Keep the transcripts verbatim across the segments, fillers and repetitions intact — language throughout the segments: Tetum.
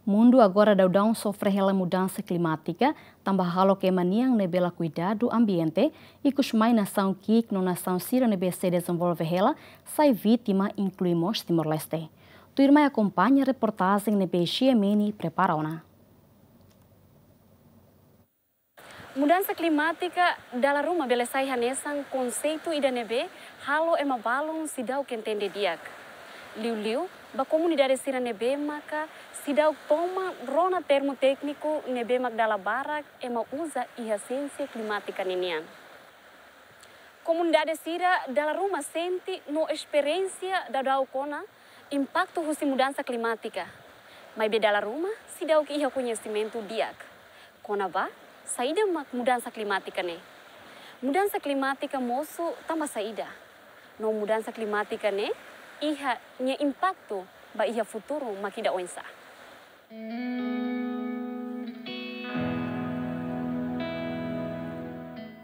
Mundu agora daudaun sofre hela mudansa klimátika, tanba hahalok ema nian ne'ebé la kuidadu ambiente, ikusmai nasaun ki'ik no nasaun sira ne'ebé sei dezenvolve hela, sai vítima, inklui mós Timor-Leste. Tuirmai akompaña reportajen ne'ebé Xiemeni prepara ona. Mudansa klimátika dala ruma bele sai hanesan konseitu ida ne'ebé halo ema balun seidauk entende di'ak. Liuliu ba komunidade sira ne'ebé maka seidauk toman rona termu tékniku ne'ebé mak dala barak ema uza iha siénsia klimátika ninian. Komunidade sira dala ruma sente no esperiénsia daudaun kona impaktu husi mudansa klimátika. Maibé dala ruma seidauk iha koñesimentu di'ak kona-ba saida mak mudansa klimátika ne'e. Mudansa klimátika mosu tanba saida? No mudansa klimátika ne'e iha nia impaktu ba iha futuru mak ida oinsá?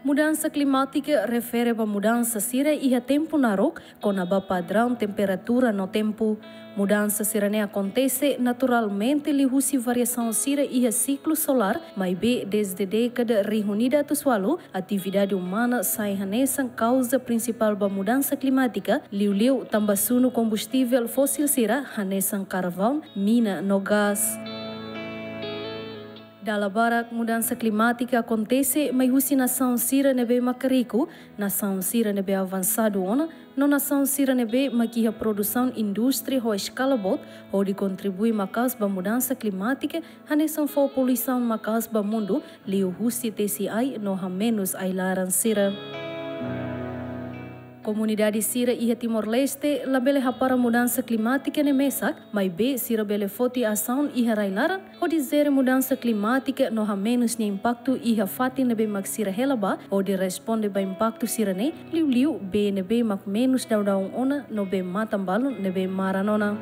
Mudansa klimátika refere ba mudansa sira iha tempu naruk, kona-ba padraun temperatura no tempu. Mudansa sira-ne'e akontese naturalmente liuhusi variasaun sira iha siklu solár, maibé dezde dékada rihun ida atus ualu, atividade umana sai hanesan kauza prinsipál ba mudansa klimátika, liuliu tanba sunu kombustivel fósil sira, hanesan karvaun, mina no gás. Dala barak mudansa klimátika akontese mai husi nasaun sira ne'ebé maka riku, nasaun sira ne'ebé avansadu ona, no nasaun sira ne'ebé mak iha produsaun indústria ho eskala boot, hodi kontribui maka'as ba mudansa klimátika, hanesan fó poluisaun maka'as ba mundu, liuhusi tesi ai no hamenus ai-laran sira. Komunidade sira iha Timor-Leste labele hapara mudansa klimátika ne'e mesak, maibé sira bele foti asaun iha rai-laran, hodi jere mudansa klimátika no hamenus nia impaktu iha fatin ne'ebé mak sira hela ba, hodi responde ba impaktu sira-ne'e, liuliu bee ne'ebé mak menus daudaun ona no bee-matan balun ne'ebé maran ona.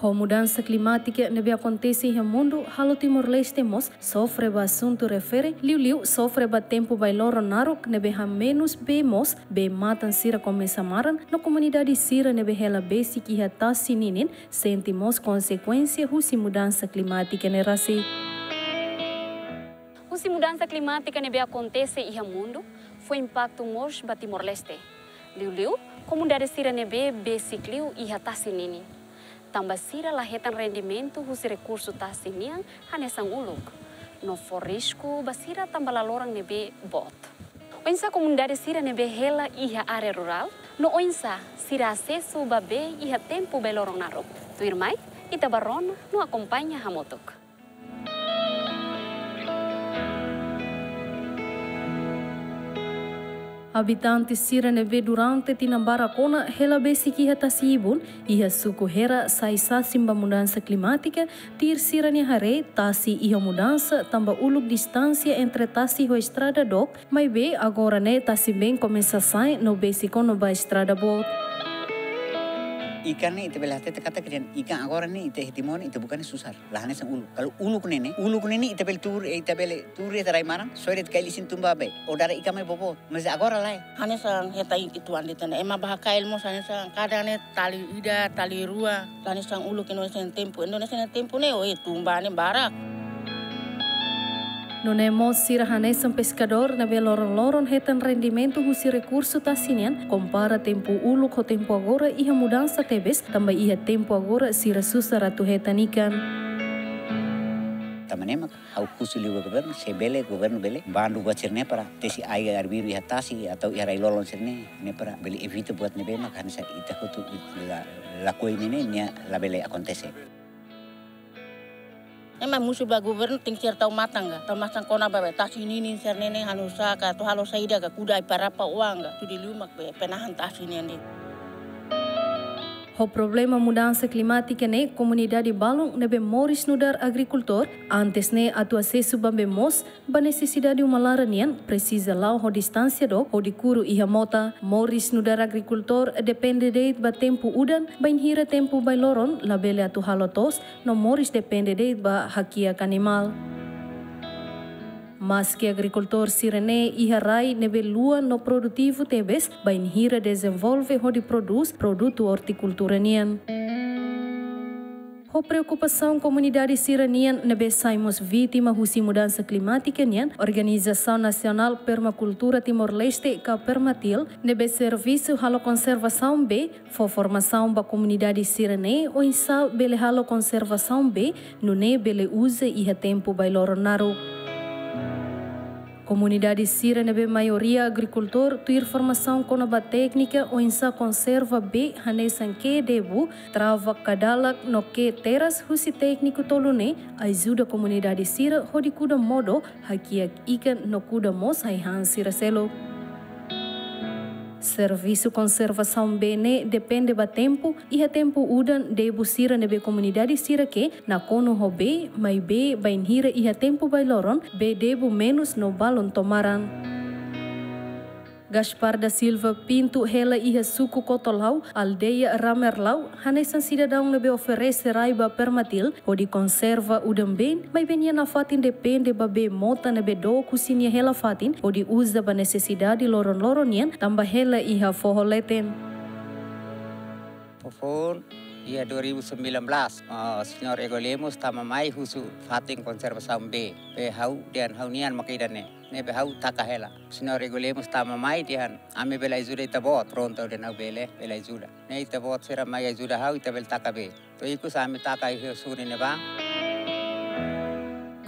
Ho mudansa klimátika ne'ebé akontese iha mundu, halo Timor-Leste mós sofre ba asuntu refere, liuliu sofre ba tempu bailoron naruk ne'ebé hamenus bee mós, bee-matan sira komesa maran, no komunidade sira ne'ebé hela besik iha tasi ninin, sente mós konsekuénsia husi mudansa klimátika ne'e rasik. Husi mudansa klimátika ne'ebé akontese iha mundu, fó impaktu mós ba Timor-Leste. Liuliu, komunidade sira ne'ebé besik liu iha tasi ninin. Tanba sira la hetan rendimentu husi rekursu tasi nian hanesan uluk. No fó risku ba sira tanba laloran ne'ebé boot. Oinsá komunidade sira ne'ebé hela iha área rurál, no oinsá sira asesu ba bee iha tempu bailoron naruk? Tuirmai, ita bá rona no akompaña hamutuk. Abitante sira ne'ebé durante tinan barak ona hela besik iha tasi ibun, iha suku Hera sai sasin ba mudansa klimátika, tuir sira-nia haree tasi iha mudansa tanba uluk distánsia entre tasi ho estrada dook, maibé agora ne'e tasi-been komesa sa'e no besik ona ba estrada boot. Ikan ne'e ita bele hatete katak ikan agora ne'e ita iha timon ita buka ne'e susar. La hanesan uluk. Kalau uluk ne'e ne'e, uluk ne'e ne'e ita bele tuur, ita bele tuur iha rai-maran, soe de'it kail isin tun ba bee. Odara ikan mai boboot. Mas agora lae. Hanesan hetan uitoan de'it ona. Ema bá hakail mós hanesan kadang ne'e tali ida, tali rua. Hanesan uluk Indonézia nia tempu. Indonézia nia tempu ne'e, oh, eh, tun ba ne'e barak. Nune'e mós sira hanesan peskadór ne'ebé loron-loron hetan rendimentu husi rekursu tasi nian, kompara tempu uluk ho tempu agora iha mudansa tebes, tanba iha tempu agora sira susar atu hetan ikan. Tanba ne'e mak ha'u husu liu ba governu, se bele governu bele bandu buat sira-ne'e para tesi ai arbiru iha tasi atau iha rai-lolon sira-ne'e, ne'e para bele evita buat ne'ebé mak hanesan ita hotu la, lakohi ne'e ne'e nia labele akontese. Ema husu ba governu tenke ser tau matan ka, tau matan kona-ba bee tasi ninin sira-ne'e ne'e halo sá ka, atu halo saida ka, kuda ai-parapa oan ka, atu di liu mak bee penahan tasi ne'e ne'e. Ho problema mudansa klimátika ne'e komunidade balun ne'ebé moris nu'udar agrikultór, antes ne'e atu asesu ba bee mós ba nesesidade uma laran nian presiza la'o ho distánsia dook hodi kuru iha mota. Moris nu'udar agrikultór depende de'it ba tempu udan, bainhira tempu bailoron labele atu halo to'os, no moris depende de'it ba hakiak animál. Maski agrikultór sira-ne'e iha rai ne'ebé luan no produtivu tebes, bainhira dezenvolve hodi prodús produtu ortikultura nian. Ho preokupasaun komunidade sira-nian ne'ebé sai mós vítima husi mudansa klimátika nian, Organizasaun Nasionál Permakultura Timor-Leste, ka Permatil, ne'ebé servisu halo konservasaun bee, fó formasaun ba komunidade sira-ne'e oinsá bele halo konservasaun bee, nune'e bele uza iha tempu bailoron naruk. Komunidade sira ne'ebé maioria agrikultór tuir formasaun kona-ba téknika oinsá konserva bee hanesan kee debu, trava kadalak no kee teras husi tékniku tolu ne'e ajuda komunidade sira hodi kuda modo, hakiak ikan no kuda mós ai-han sira seluk. Servisu konservasaun bee ne'e depende ba tempu, iha tempu udan debu sira ne'ebé komunidade sira kee nakonu ho bee, maibé bainhira iha tempu bailoron, bee debu menus no balun to'o maran. Gaspar da Silva Pinto hela iha suku Kotolau, aldeia Ramerlau, hanesan sidadaun ne'ebé oferese rai ba Permatil hodi konserva udan-been, maibé nia nafatin depende ba bee mota ne'ebé dook husi nia hela-fatin hodi uza ba nesesidade loron-loron nian, tanba hela iha foho leten. Fofoun, iha dua ribu sembilan belas, ah, Señór Ego Lemos tama mai husu fatin konservasaun bee. Bee ha'u dehan ha'u-nian maka ida-ne'e. Ne'ebé ha'u taka hela. Señór Ego Lemos tama mai dehan ami bele ajuda ita-boot. Prontu, dehan ha'u bele, bele ajuda. Ne'e ita-boot sira mai ajuda ha'u, ita bele taka bee. To'o ikus ami taka iha suri ne'ebá.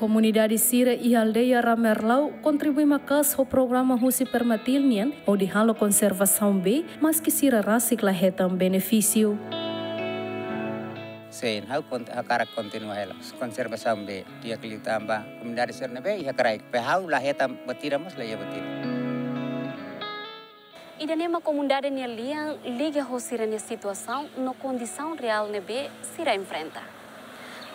Komunidade sira iha aldeia Ramerlau kontribui maka'as ho programa husi Permatil nian hodi halo konservasaun bee, maski sira rasik la hetan benefísiu. Sin, ha'u kont-, hakarak kontinua hela konservasaun bee. Di'ak liu tanba komunidade sira ne'ebé iha kraik. Bee ha'u la hetan buat ida mós, la iha buat ida. Ida-ne'e mak komunidade nia lian liga ho sira-nia situasaun no kondisaun reál ne'ebé sira enfrenta.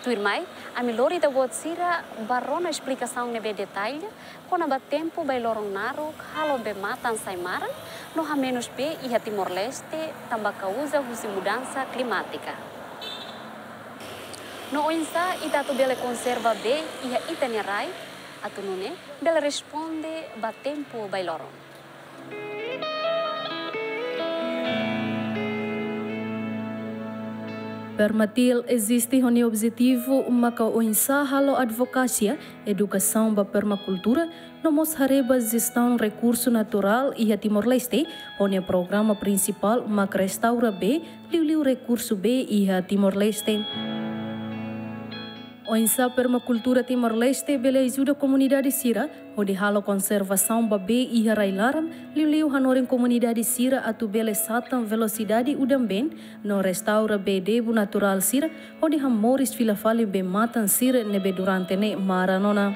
Tuirmai, ami lori ita-boot sira ba rona esplikasaun ne'ebé detalle kona-ba tempu bailoron naruk halo bee-matan sai maran no hamenus bee iha Timor-Leste tanba kauza husi mudansa klimátika. No oinsá ita atu bele konserva bee iha ita-nia rai, atu nune'e bele responde ba tempu bailoron. Permatil eziste ho nia objetivu maka oinsá halo advokasia, edukasaun ba permakultura, no mós haree ba jestaun rekursu naturál iha Timor-Leste, ho nia programa prinsipál mak restaura bee, liuliu rekursu bee iha Timor-Leste. Oinsá permakultura Timor-Leste bele ajuda komunidade sira hodi halo konservasaun ba bee iha rai-laran, liuliu hanorin komunidade sira atu bele satan velosidade udan-been no restaura bee debu naturál sira, hodi hamoris fila fali bee-matan sira ne'ebé durante ne'e maran ona.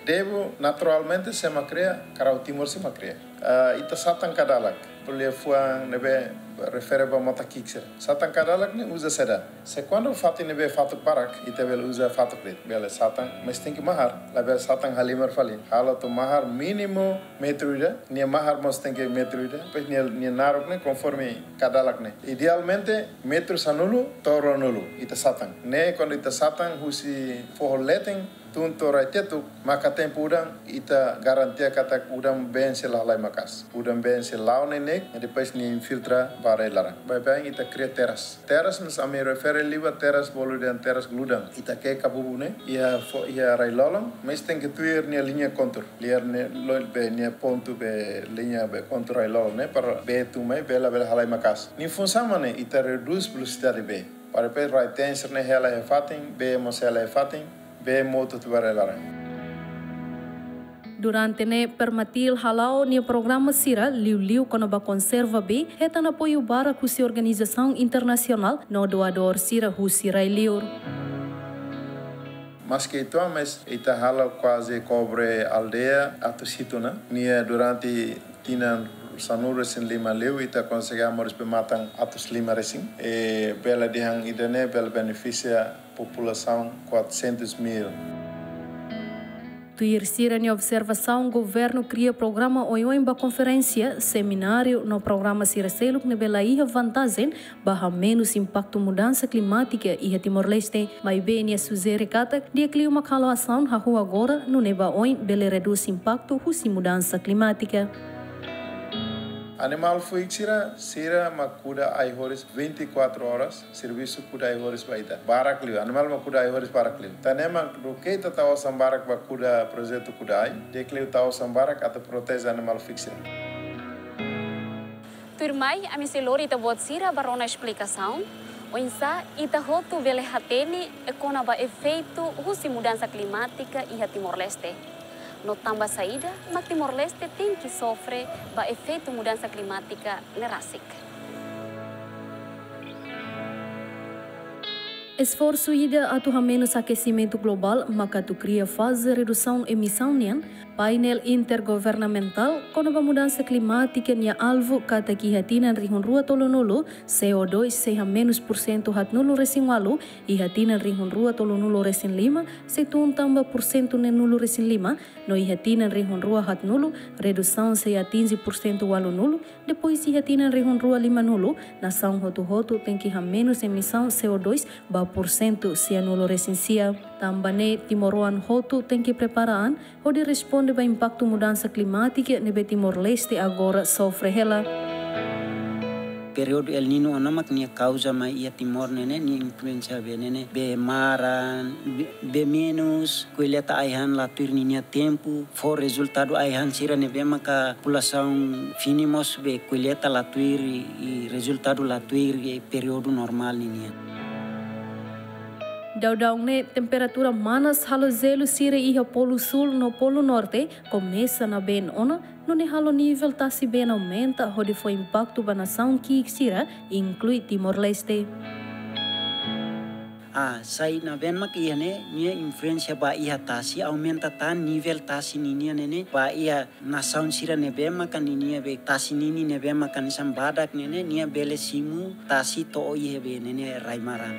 Debu naturalmente sé mak kria, karau Timor sé mak kria. Ah, ita satan kadalak, bolu iha fuan ne'ebé refere ba mota ki'ik sira. Satan kadalak ne'e uza saida? Se kuandu fatin ne'ebé fatuk barak, ita bele uza fatuk de'it, bele satan, mas tenke mahar, labele satan halimar fali. Halo atu mahar mínimu metru ida, nia mahar mós tenke metru ida, depois nia, nia naruk ne'e konforme kadalak ne'e. Idealmente metru sanulu to'o ruanulu ita satan. Ne'e kuandu ita satan husi foho leten tun to'o rai tetuk, maka tempu udan ita garantia katak udan-been sei la halai maka'as. Udan-been sei la'o neineik, i depois nia infiltra ba rai-laran. Baibain ita kria teras. Teras ne'e ami refere liu ba teras bolu dehan teras gludan. Ita kee kabubu ne'e iha fo-, iha rai-lolon, mas tenke tuir nia liña kontur. Liña ne'e lori bee nia pontu bee liña bee kontur rai-lolon ne'e para bee tun mai bee labele halai maka'as. Nia funsaun mak ne'e, ita redús velosidade bee. Para depois rai-teen sira-ne'e hela iha fatin, bee mós hela iha fatin, bee mout hotu ba rai-laran. Durante ne'e Permatil hala'o nia programa sira, liuliu kona-ba konserva bee, hetan apoiu barak husi organizasaun internasionál no doadór sira husi rai-liur. Maske uitoan, mas ita halo kuaze kobre aldeia atus hitu ona. Nia durante tinan sanulu-resin-lima liu, ita konsege hamoris bee-matan atus lima resin. E bele dehan ida-ne'e bele benefisia populasaun quatrocentos mil. Tuir sira-nia observasaun, governu kria programa oioin ba konferénsia, semináriu no programa sira seluk ne'ebé la iha vantajen ba hamenus impaktu mudansa klimátika iha Timor-Leste. Maibé nia sujere katak di'ak liu mak halo asaun hahú agora, nune'e ba oin bele redús impaktu husi mudansa klimátika. Animál fuik sira, sira mak kuda ai-horis vinte e quatro horas, servisu kuda ai-horis ba ita. Barak liu, animál mak kuda ai-horis barak liu. Tan ne'e mak duké ita tau osan barak ba kuda projetu kuda ai, di'ak liu tau osan barak atu proteje animál fuik sira. Tuirmai, ami sei lori ita-boot sira ba rona esplikasaun oinsá ita hotu bele hatene kona-ba efeitu husi mudansa klimátika iha Timor-Leste. No tanba saida mak Timor-Leste tenke sofre ba efeitu mudansa klimátika ne'e rasik. Esforsu ida atu hamenus akesimentu globál maka atu kria faze redusaun emisaun nian. Painel intergovernamentál kona-ba mudansa klimátika nia alvu katak iha tinan rihun rua tolunulu, C O dois sei hamenus pursentu haatnulu resin ualu, iha tinan rihun rua tolunulu resin lima sei tun tan ba pursentu neenulu resin lima, no iha tinan rihun rua haatnulu, redusaun sei atinje pursentu ualunulu, depois iha tinan rihun rua limanulu, nasaun hotu-hotu tenke hamenus emisaun C O dois ba pursentu sianulu resin sia. Tanba ne'e, timoroan hotu tenke prepara an hodi responde ba impaktu mudansa klimátika ne'ebé Timor-Leste agora sofre hela. Períodu El Niño ona mak nia kauza mai iha Timor ne'e ne'e, nia influénsia bee ne'e ne'e, bee maran, bee, bee menus, kolleita ai-han la tuir ninia tempu, fó rezultadu ai-han sira ne'ebé maka populasaun fini mós bee kolleita la tuir i rezultadu la tuir i períodu normál ninian. Daudaun ne'e, temperatura manas halo jelu sira iha Polu Súl no Polu Norte komesa nabeen ona, nune'e halo nivel tasi been aumenta hodi fó impaktu ba nasaun ki'ik sira, inklui Timor-Leste. Ah, sai nabeen mak iha ne'e, nia influénsia ba iha tasi, aumenta tan nivel tasi ninian ne'e ne'e, ba iha nasaun sira ne'ebé maka ninia bee tasi ninin ne'ebé maka hanesan badak ne'e ne'e, nia bele simu tasi to'o iha bee ne'e ne'e rai maran.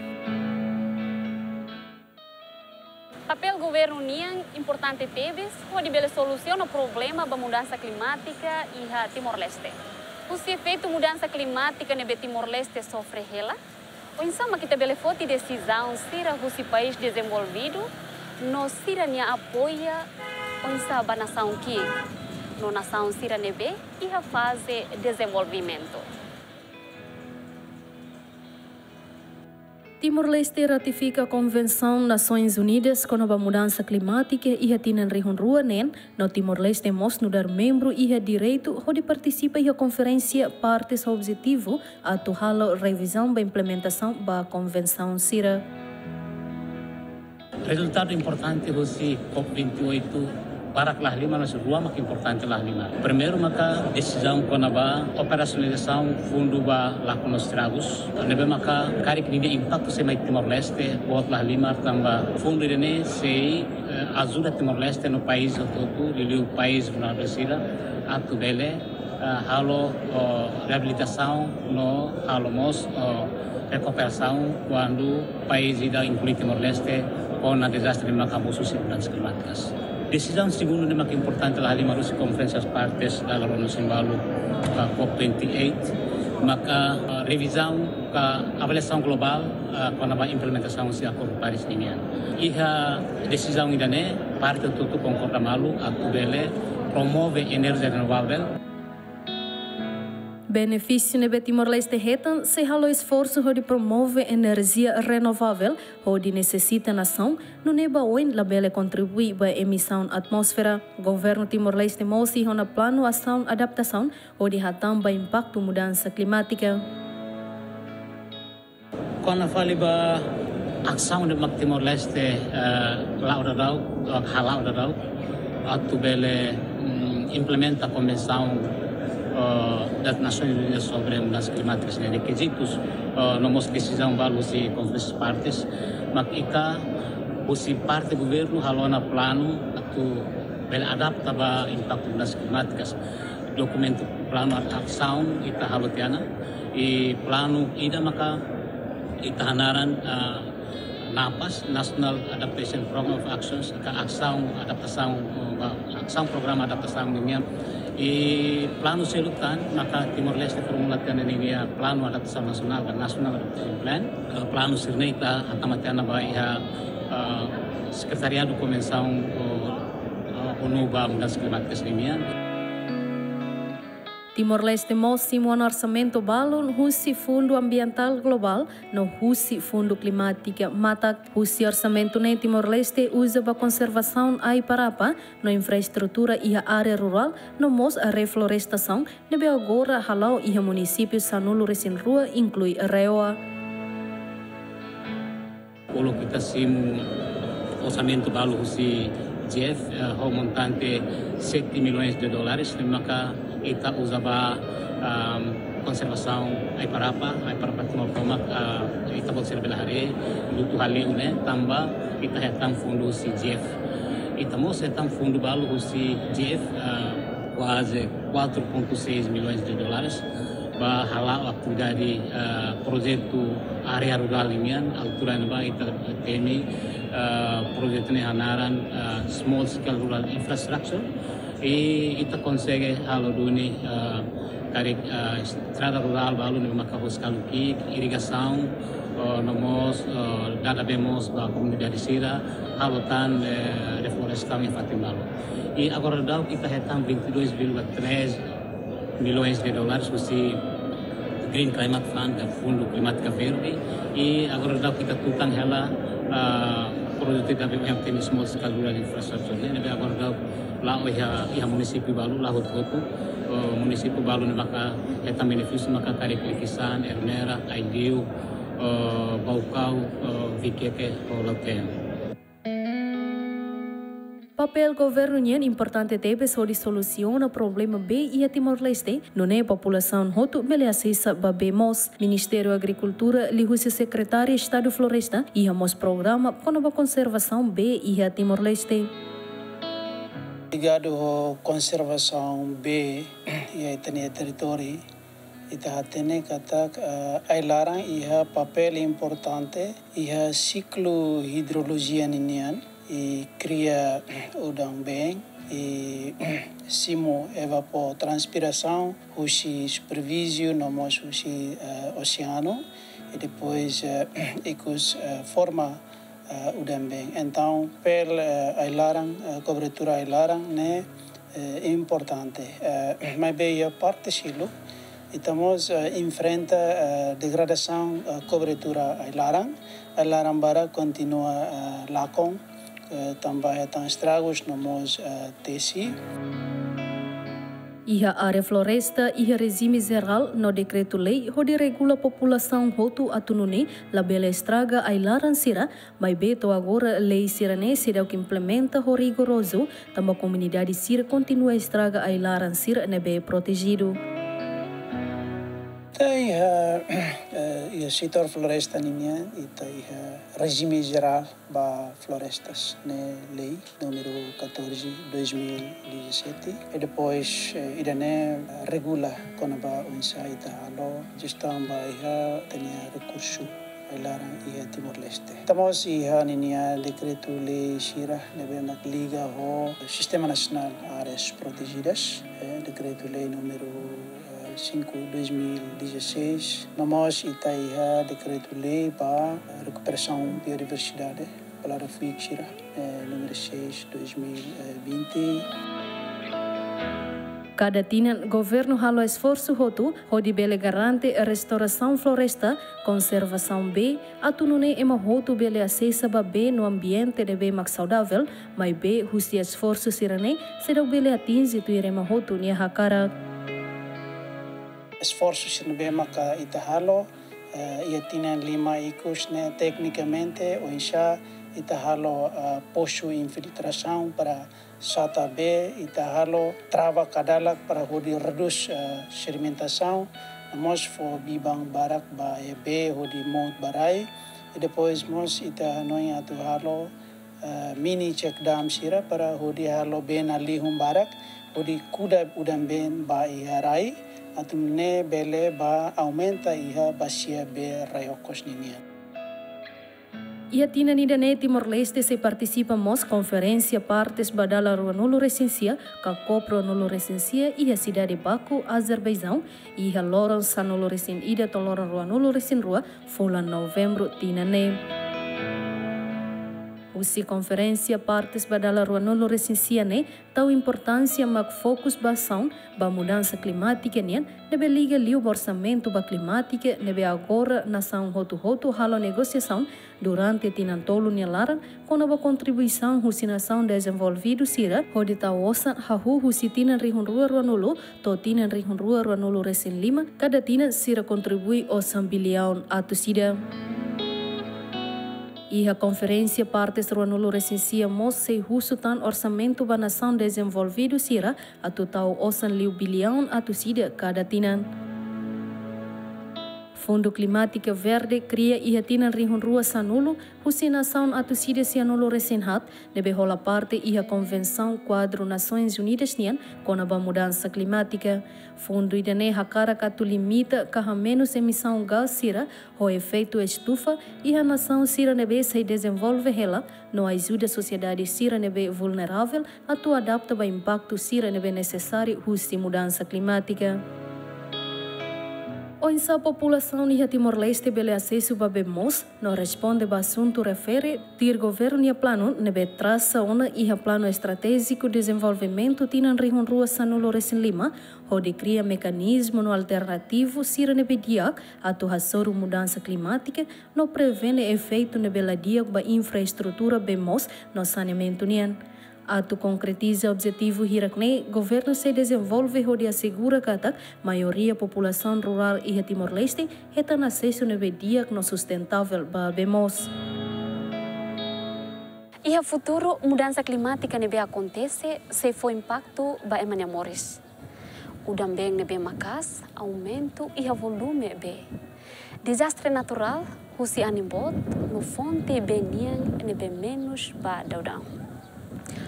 Papél governu nian importante tebes hodi bele solusiona problema ba mudansa klimátika iha Timor-Leste. Husi efeitu mudansa klimátika ne'ebé Timor-Leste sofre hela, oinsá mak ita bele foti desizaun sira husi país dezenvolvidu, no sira-nia apoia oinsá ba nasaun ki'ik, no nasaun sira ne'ebé iha faze dezenvolvimentu. Timor-Leste ratifika Konvensaun Nasoins Unidas kona-ba mudansa klimátika iha tinan rihun rua neen, no Timor-Leste mós nu'udar membru iha direitu hodi partisipa iha konferénsia partes objetivu atu halo revizaun ba implementasaun ba konvensaun sira. Rezultadu importante husi COP vinte e oito, barak la halimar, mas rua mak importante la halimar. Primeiru maka desizaun kona-ba operasionalizasaun fundu ba lakon no estragus, ne'ebé maka karik ninia impaktu sei mai Timor-Leste, boot la halimar tanba fundu ida-ne'e sei, eh, ajuda Timor-Leste no país hotu-hotu, liuliu país vulneravel sira, atu bele, eh, halo, oh, reabilitasaun no halo mós, oh, rekuperasaun kuandu país ida inklui Timor-Leste kona dezastre ne'ebé maka mosu husi mudansa klimátikas. Desizaun segundu ne'ebé maka importante la halimar husi konferénsia partes dala rua no sembalu, ah, COP vinte e oito, maka, ah, revizaun ka avaliasaun globál, ah, kona-ba implementasaun husi Akordu Paris ninian. Iha desizaun ida-ne'e, parte hotu-hotu konkorda malu atu bele promove enerjia renovavel. Benefísiu ne'ebé Timor-Leste hetan sei halo esforsu hodi promove enerjia renovavel hodi nesesita nasaun, nune'e ba oin labele kontribui ba emisaun atmósfera. Governu Timor-Leste mós iha ona planu asaun adaptasaun hodi hatán ba impaktu mudansa klimátika. Kona fali ba asaun ne'ebé mak Timor-Leste, eh, la'o daudaun, eh, hala'o daudaun, atu bele, mm, implementa konvensaun, eh, das Nações Unidas sobre mudansa klimátika ne'e, rekizitus, eh, no mós desizaun balu husi konferénsia partes, mak ita husi parte governu halo ona planu atu bele adapta ba impaktu mudansa klimátikas. Dokumentu planu asaun ita halo tiha ona, i planu ida maka ita hanaran, ah, NAPAS, National Adaptation Program of Actions, ka asaun adaptasaun, ah, asaun programa adaptasaun ninian. I planu seluk tan maka Timor-Leste formula tiha ona ninia planu adaptasaun nasionál, ka National Adaptation Plan. Ah, planu sira-ne'e ita hatama tiha ona ba iha, ah, Sekretariadu Konvensaun, ah, ah, ONU ba mudansa klimátika ninian. Timor-Leste mós simu ona orsamentu balun husi Fundu Ambientál Globál no husi Fundu Klimátika Matak. Husi orsamentu ne'e Timor-Leste uza ba konservasaun ai-parapa no infraestrutura iha área rurál no mós reflorestasaun ne'ebé agora hala'o iha munisípiu sanulu-resin-rua inklui Rewa. Kuandu ita simu orsamentu balu husi GEF, eh, ho montante sete milhões de dólares, ne'e maka ita uza ba, ahm, konservasaun ai-parapa, ai-parapa timoroan tomak, ah, ita-boot sira bele haree, lutu haliu ne'e, tanba ita hetan fundu husi GEF. Ita mós hetan fundu balu husi GEF, ah, kuaze quatro ponto seis milhões de dólares, ba hala'o atividade, ah, projetu área rurál nian, altura ne'ebá ita temi, ah, projetu ne'e hanaran, ah, Small Scale Rural Infrastructure. I ita konsege halo duni, ah, karik, ah, estrada rurál balu ne'ebé maka husi kalu ki'ik, irrigasaun, ah, no mós, ah, dada bee moos ba komunidade sira, halo tan, eh, reflorestasaun iha fatin balu. I agora daudaun ita hetan vinte e dois vírgula três milhões de dólares husi Green Climate Fund, ka Fundu Klimátika Verde. I agora daudaun ita tutan hela, ah, projetu ida ne'ebé mak temi Small Scale Rural Infrastructure ne'e, ne'ebé agora daudaun la'o iha, iha munisípiu balu, la'o hotu-hotu, eh, munisípiu balu ne'ebé maka hetan benefísiu maka karik Liquiçá, Ermera, Aileu, eh, Baucau, eh, Viqueque, ho Lautém. Papél governu nian importante tebes hodi solusiona problema bee iha Timor-Leste, nune'e populasaun hotu bele asesa ba bee moos. Ministériu Agrikultura liuhusi Sekretáriu Estadu Floresta iha mós programa kona-ba konservasaun bee iha Timor-Leste. Ligadu ho konservasaun bee iha ita-nia territóriu, ita hatene katak, eh, ai-laran iha papél importante iha siklu idrolojia ninian, i kria udan-been, i simu evapotranspirasaun husi superfísie no mós husi, eh, oseanu, i depois, eh, ikus, eh, forma, eh, udan-been. Entaun, papél, eh, ai-laran, eh, kobertura ai-laran ne'e, eh, importante. Eh, maibé iha parte seluk, ita mós, eh, enfrenta, eh, degradasaun, eh, kobertura ai-laran. Ai-laran barak kontinua, eh, lakon, eh, tanba hetan estragus no mós, eh, tesi. Iha área floresta iha rejime jerál no dekretu-lei hodi regula populasaun hotu atu nune'e labele estraga ai-laran sira, maibé to'o agora lei sira-ne'e seidauk implementa ho rigorozu, tanba komunidade sira kontinua estraga ai-laran sira ne'ebé protejidu. Ita iha, eh, iha setór floresta ninian, ita iha rejime jerál ba florestas, ne'e lei númeru catorze, dois mil e dezassete. I depois, eh, ida-ne'e regula kona-ba oinsá ita halo jestaun ba iha ita-nia rekursu ai-laran iha Timor-Leste. Ita mós iha ninia dekretu-lei sira ne'ebé mak liga ho Sistema Nasionál Áreas Protejidas, eh, dekretu-lei númeru, eh, cinco dois mil e dezasseis. No mós ita iha dekretu-lei ba rekuperasaun biodiversidade, palavra fuik sira, eh, númeru seis dois mil e vinte. Kada tinan, governu halo esforsu hotu hodi bele garante restaurasaun floresta, konservasaun bee, atu nune'e ema hotu bele asesa ba bee no ambiente ne'ebé mak saudavel, maibé husi esforsu sira-ne'e seidauk bele atinje tuir ema hotu nia hakarak. Esforsu sira ne'ebé maka ita halo, eh, iha tinan lima ikus ne'e teknikamente, oinsá ita halo, eh, posu infiltrasaun para sata bee, ita halo trava kadalak para hodi redús, eh, sedimentasaun, no mós fó biban barak ba iha bee hodi mout ba rai. I depois mós ita hanoin atu halo, eh, mini check dam sira para hodi halo bee-na'in-lihun barak, hodi kuda udan-been ba iha rai, atu nune'e bele ba aumenta iha basia bee Rai Okos ninian. Iha tinan ida-ne'e Timor-Leste sei partisipa mós konferénsia partes ba dala ruanulu-resin-sia, ka COP ruanulu-resin-sia, iha sidade Baku, Azerbaijaun, iha loron sanulu-resin-ida to'o loron ruanulu-resin-rua, fulan Novembru tinan ne'e. Husi konferénsia, partes ba dala ruanulu resin sia ne'e tau importánsia mak fokus ba asaun ba mudansa klimátika nian, ne'ebé liga liu ba orsamentu ba klimátika, ne'ebé agora nasaun hotu-hotu halo negosiasaun durante tinan tolu nia laran, kona-ba kontribuisaun husi nasaun dezenvolvidu sira hodi tau osan hahú husi tinan rihun rua ruanulu to'o tinan rihun rua ruanulu resin lima, kada tinan sira kontribui osan biliaun atus ida. Iha konferénsia, partes ruanulu resin sia mós sei husu tan orsamentu ba nasaun dezenvolvidu sira atu tau osan liu biliaun atus ida kada tinan. Fundu Klimátika Verde kria iha tinan rihun rua sanulu husi nasaun atus ida sianulu resin haat, ne'ebé hola parte iha Konvensaun Kuadru Nasoins Unidas nian kona-ba mudansa klimátika. Fundu ida-ne'e hakarak atu limita ka hamenus emisaun gás sira ho efeitu estufa iha nasaun sira ne'ebé sei dezenvolve hela, no ajuda sosiedade sira ne'ebé vulneravel atu adapta ba impaktu sira ne'ebé nesesáriu husi mudansa klimátika. Oinsá populasaun iha Timor-Leste bele asesu ba bee moos no responde ba asuntu refere tuir governu nia planu ne'ebé trasa ona iha Planu Estratéjiku Dezenvolvimentu tinan rihun rua sanulu resin lima, hodi kria mekanizmu no alternativu sira ne'ebé di'ak atu hasoru mudansa klimátika no prevene efeitu ne'ebé la di'ak ba infraestrutura bee moos no saneamentu nian. Atu konkretiza objetivu hirak-ne'e, governu sei dezenvolve hodi asegura katak maioria populasaun rurál iha Timor-Leste hetan asesu ne'ebé di'ak no sustentável ba bee moos. Iha futuru, mudansa klimátika ne'ebé akontese sei fó impaktu ba ema nia moris. Udan-been ne'ebé maka'as, aumentu iha volume bee. Dezastre naturál, husi anin boot, no fonte bee nian ne'ebé menus ba daudaun.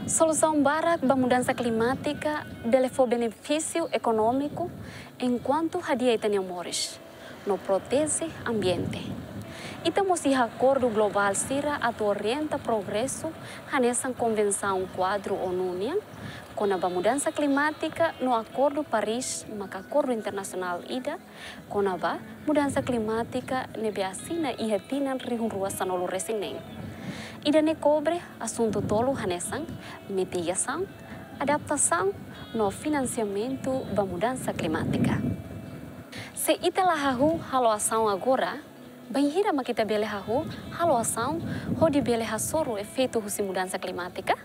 Solusaun barak ba mudansa klimátika bele fó benefísiu ekonómiku, enkuantu hadi'a ita-nia moris no proteje ambiente. Ita mós iha akordu globál sira atu orienta progresu, hanesan Konvensaun Kuadru ONU nian kona-ba mudansa klimátika no Akordu Paris, maka akordu internasionál ida kona-ba mudansa klimátika ne'ebé asina iha tinan rihun rua sanulu resin neen. Ida-ne'e kobre asuntu tolu hanesan mitigasaun, adaptasaun no finansiamentu ba mudansa klimátika. Se ita la hahú halo asaun agora, bainhira mak ita bele hahú halo asaun hodi bele hasoru efeitu husi mudansa klimátika?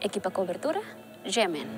Ekipa kobertura, G M N.